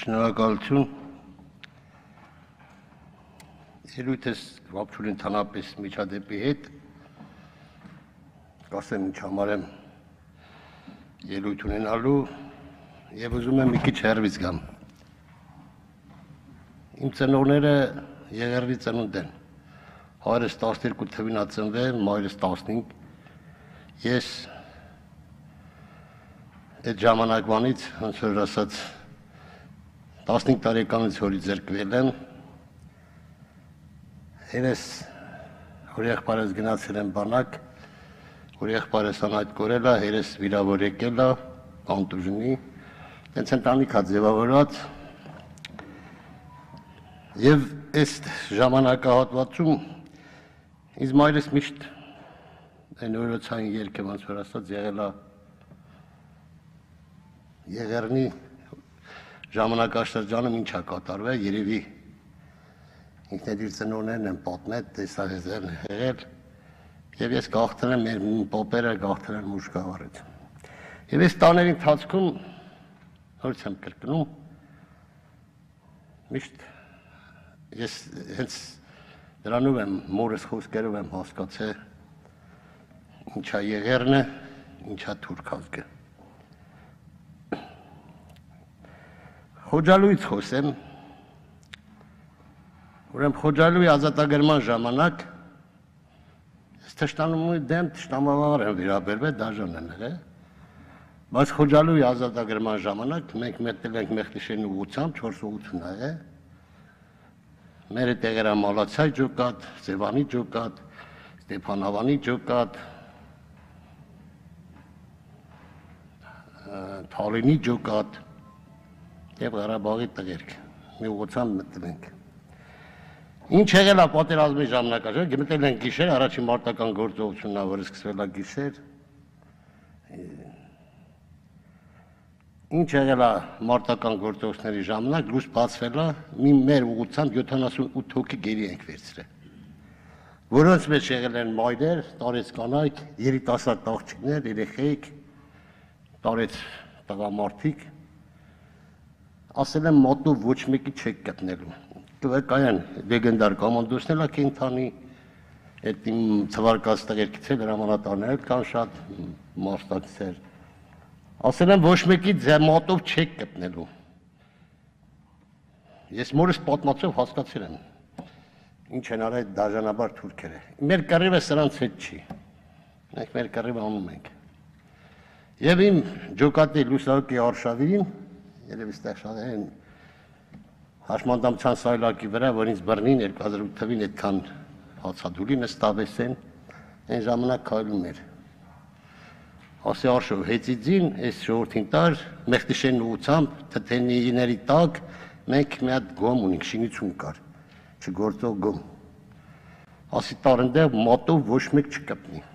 Շնորհակալություն։ Ելույթ ես վապչուր ընդհանրապես միջադեպի հետ, կասեմ ինչ համար եմ ելույթ ունենալու և ուզում եմ մի քիչ հեռվից գամ։ Իմ ծնողները Եղեռնի ծնունդ են, հայրս 12 թվին ա ծնվել, մայրս 15, ես այդ ժամանակվանից, ոնց որ ասած, 15 տարեկանից հորից զրկվել եմ, հերես որ եղբայրս գնացել եմ բանակ, որ եղբայրս անհայտ կորել է, հերես վիրավոր եկել է, կոնտուժնի, տենց ընտանիք ա ձևավորված, և այս ժամանակահատվածում ինձ մայրս միշտ այն օրոցային երգը, ոնց որ ասած, եղել է Եղեռնի ժամանակաշրջանում ինչ ա կատարվել, երևի ինքն էլ իր ծնողներն են պատմել, տեսահեզերն եղել, և ես գաղթել եմ, մեր պոպերը գաղթել են մուժկավարից։ Եվ այս տաների ընթացքում, նորից եմ կրկնում, միշտ ես հենց դրանով եմ, մորս խոսքերով եմ հասկացել, ինչ ա Եղեռնը, ինչ ա թուրք ազգը։ Խոջալույից խոսեմ, ուրեմն Խոջալույի ազատագրման ժամանակ ես թշնամուի դեմ թշնամավար եմ վերաբերվել, դաժան եմ եղել, բայց Խոջալույի ազատագրման ժամանակ մենք մեկնել ենք Մեղտիշենի ուղղությամբ 4 ուղղություն ա եղել, մեր տեղերը Մալացյայ ջոկատ, Սևանի ջոկատ, Ստեփանավանի ջոկատ, Թալինի ջոկատ և Ղարաբաղի տղերք, մի ուղղությամբ մտնել ենք։ Ինչ եղել է պատերազմի ժամանակաշրջանում, մտնել ենք գիշեր, առաջին մարտական գործողությունն ա, որ սկսվել ա գիշեր։ Ինչ եղել է մարտական գործողությունների ժամանակ, լույս բացվել է, մեր ուղղությամբ 78 հոգի գերի ենք վերցրել, որոնց մեջ եղել են մայրեր, տարեց կանայք, երիտասարդ աղջիկներ, երեխեք, տարեց տղամարդիկ, ասել եմ մոտնով ոչ մեկի չեք գտնելու, կային լեգենդար կոմանդոսներ ա կենթանի, այդ իմ թվարկած տղերքից էլ հրամանատարներ կան շատ մասնակցեր, ասել եմ ոչ մեկի մոտով չեք գտնելու, ես մորս պատմածով հասկացել եմ, ինչ են արել այդ դաժանաբար թուրքերը, մեր կռիվը սրանց հետ չի, մենք մեր կռիվը անում ենք, և իմ ջոկատի լուսահոգի արշավին, երևի ստեղ շատ են հաշմանդամության սայլակի վրա, որ ինձ բռնին 2008 թվին այդքան հացադուլի նստավես են, այն ժամանակ քայլում էր, ասի արշով հեծիձին, այս ժողորդին տար, Մեղտիշենի ուղղությամբ, թթենիների տակ, մենք մի հատ գոմ ունենք, շինություն կար, չգործող գոմ, ասի տար ընդեղ մոտով ոչ մեկ չկպնի,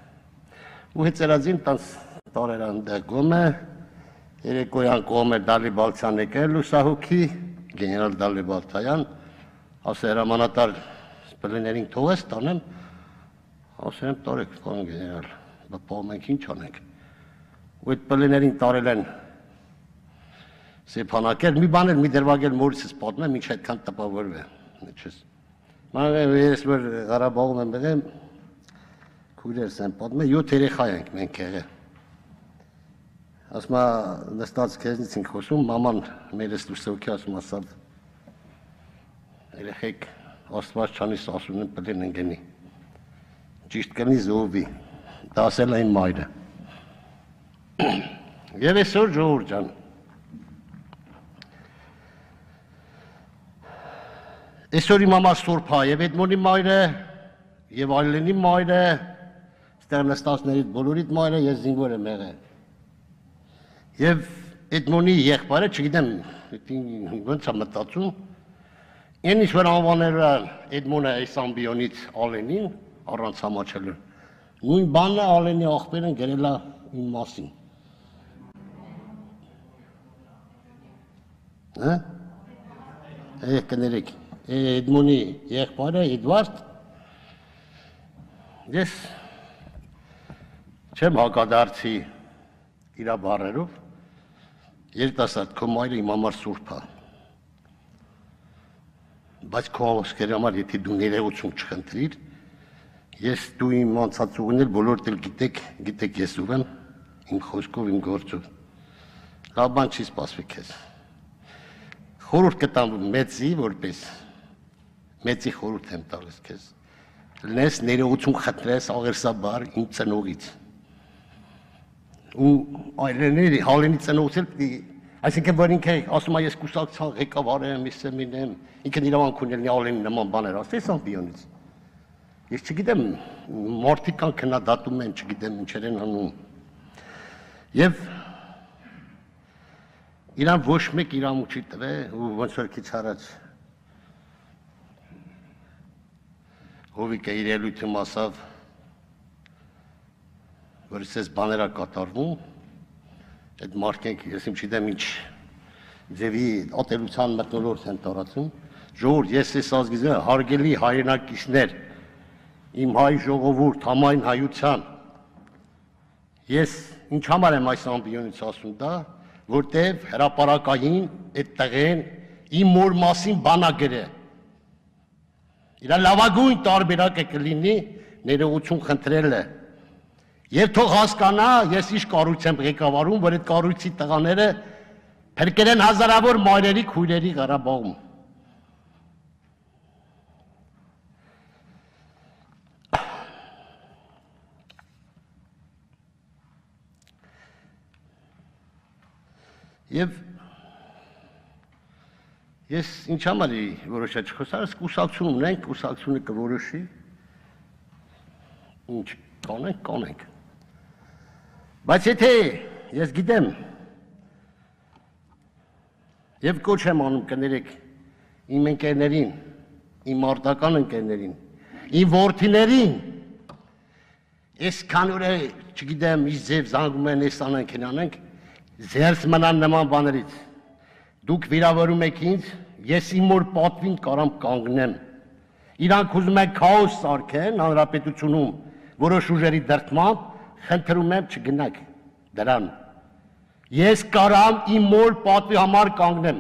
ու հեծերածին տանց տարեր ընդեղ գոմը, երեկոյան կողմեր Դալի Բալթյան եկել լուսահոգի, գեներալ Դալի Բալթյան, ասե հրամանատար սպլիներին թողես տանեմ, ասեմ տարեք, պարոն գեներալ, պահում ենք ինչ անենք, ու այդ պլիներին տարել են սեփանակել, մի բան էլ մի դրվագել մորիսս պատմեմ, ինչ այդքան տպավորվե, ես որ Ղարաբաղում եմ եղել, քույրերս եմ պատմել, 7 երեխա ենք մենք եղել, ասմա նստած քեզնից ենք խոսում, մաման մերս լուսահոգի ասում ասավ, երեխեք աստված չանի սասուն են պլին ընգենի, ճիշտ կնի զովի, դա ասել է իմ մայրը, և այսօր ժողովուրդ ջան, այսօր իմ համար սուրբ է և Էդմոնի մայրը, և Այլենի մայրը, ստեղ նստածներից բոլորիդ մայրը, ես զինվոր եմ եղել, և Էդմոնի եղբայրը, չգիտեմ, ոնց ա մտածում, այն ինչ որ անվանել է Էդմոնը այս ամբիոնից Ալենին, առանց համաչելու, նույն բանն է Ալենի աղբերն գրել է իմ մասին։ Կներեք, Էդմոնի եղբայրը Էդվարդ, ես չեմ հակադարձի իրա բառերով, երիտասարդ, քո մայրը իմ համար սուրբ է, բայց քո խոսքերի համար եթե դու ներողություն չխնդրիր, ես դու իմ անցած ուղիներ բոլորդ էլ գիտեք ես ով եմ, իմ խոսքով, իմ գործով, լավ բան չի սպասվի քեզ, խորհուրդ կտամ մեծի որպես, մեծի խորհուրդ եմ տալիս քեզ, լնես ներողություն խնդրես աղերսաբար իմ ծնողից, ու այլների հալենի ծնողից էլ այսինքն որ ինքը ասում է ես կուսակցության ղեկավար եմ, ես եմ, ինքն իրավանք ունի ալենի նման բաներ ասես ամբիոնից։ Ես չգիտեմ, մարդիկ կան քննադատում են, չգիտեմ ինչեր են անում։ Եվ իրան ոչ մեկ իրավունք չի տվել, ու ոնց որ քիչ առաջ Հովիկը իր ելույթում ասավ, որ ես բաներ ա կատարվում, այդ մարդիկ, ես իմ չգիտեմ ինչ ձևի ատելության մթնոլորտ են տարածում, ժողովուրդ, ես այս ազգի հարգելի հայրենակիցներ, իմ հայ ժողովուրդ, համայն հայության, ես ինչ համար եմ այս ամբիոնից ասում դա, որտև հրապարակային այդ տղեն իմ մոր մասին բան ա գրել, իր լավագույն տարբերակը կլինի ներողություն խնդրելը, Եվ թող հասկանա, ես ինչ կառույց եմ ղեկավարում, որ այդ կառույցի տղաները փրկել են հազարավոր մայրերի քույրերի Ղարաբաղում։ Եվ ես ինչ համար որոշա չխոսարս կուսակցություն ունենք, կուսակցությունը կորոշի, ինչ կանենք։ Բայց եթե ես գիտեմ եւ կոչ եմ անում կներեք իմ ընկերներին, իմ արտական ընկերներին, իմ որդիներին, այսքան օր չգիտեմ ինչ ձև զանգում են, այս անենք, անենք, զերծ մնան նման բաներից։ Դուք վիրավորում եք ինձ, ես իմ մոր պատվին կարամ կանգնեմ։ Իրանք ուզում են քաոս սարքեն հանրապետությունում, որոշ ուժերի դրդմամբ, խնդրում եմ չգնաք դրան։ Ես կարամ իմ մոր պատվի համար կանգնեմ։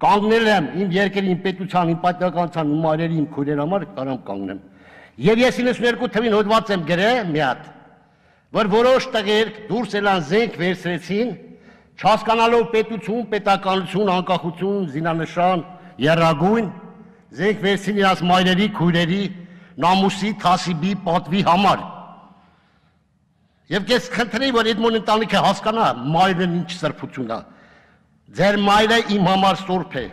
Կանգնել եմ իմ երկրի, իմ պետության, իմ պատմականության, իմ այրերի, իմ քույրերի համար կարամ կանգնեմ։ Եվ ես 92 թվին հոդված եմ գրել մի հատ, որ որոշ տղեր դուրս ելան զենք վերցրեցին, չհասկանալով պետություն, պետականություն, անկախություն, զինանշան, եռագույն, զենք վերցրին իրաց մայրերի, քույրերի, նամուսի, թասիբի, պատվի համար։ Եվ ես խնդրեի, որ այդ մոն ընտանիքը հասկանա մայրն ինչ սրբություն է։ Ձեր մայրը իմ համար սուրբ է։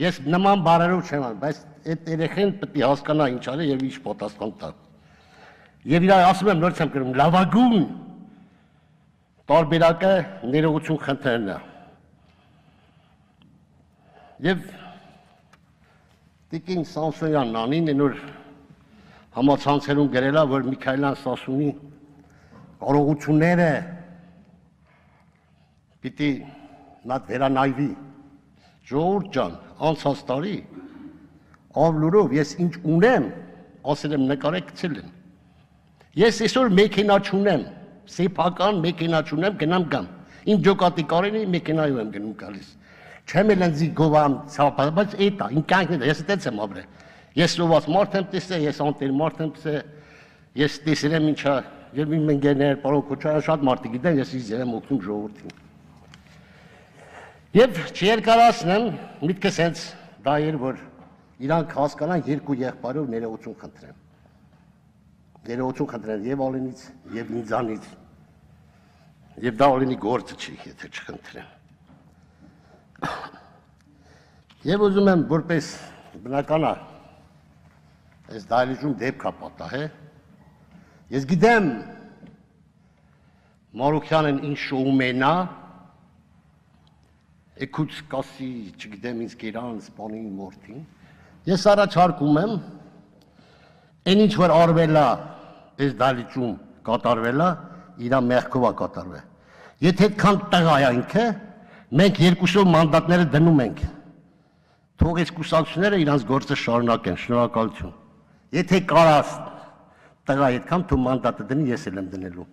Ես նման բառերով չեմ անում, բայց այդ երեխեն պետք է հասկանա ինչ արի եւ ինչ պատասխան տա։ Եվ իրար ասում եմ նորից եմ գրում, լավագույն տարբերակը ներողություն խնդրելն է։ Եվ Տիկին Սամսոնյանն անին նոր համացանցերում գրել է, որ Միքայելյան Սասունի կարողությունները պիտի նատ վերանայվի, ժողովուրդ ջան, անցած տարի, ավլուրով ես ինչ ունեմ, ասել եմ նկարեք գցել եմ, ես այսօր մեքենա չունեմ, սեփական մեքենա չունեմ, գնամ գամ, իմ ջոկատի կարենի մեքենայով եմ գնում գալիս, չեմ էլ ընձի գովամ ցապա, բայց էտա, իմ կյանքն է, ես այդպես եմ ապրել, ես սոված մարդ եմ տեսել, ես անտեր մարդ եմ տեսել, ես տեսել եմ ինչա Եվ իմ ընկերներ, պարոն Քոչարյան շատ մարդիկ գիտեն, ես ինձ եմ օգնում ժողովրդին։ Եվ չերկարացնեմ, միտքս հենց դա էր, որ իրանք հասկանան երկու եղբայրով ներողություն խնդրեմ։ Ներողություն խնդրեմ եւ Ալենից, եւ ինձանից։ Եվ դա Ալենի գործը չի, եթե չխնդրեմ։ Եվ ուզում եմ որպես բնական է, այս դահլիճում դեպք է պատահել։ Ես գիտեմ Մարուքյանն ինչ շոում է նա, եկուց կասի, չգիտեմ ինձ գերան, սպանի մորթին, ես առաջարկում եմ, այն ինչ որ արվել է, այս դահլիճում կատարվել է, իրա մեղքով է կատարվել։ Եթե այդքան տղա է ինքը, մենք երկուսով մանդատները դնում ենք, թող այս կուսակցությունները իրանց գործը շարունակեն, շնորհակալություն։ Եթե կարաս տղա այդքան թու մանդատը դնի, ես էլ եմ դնելու։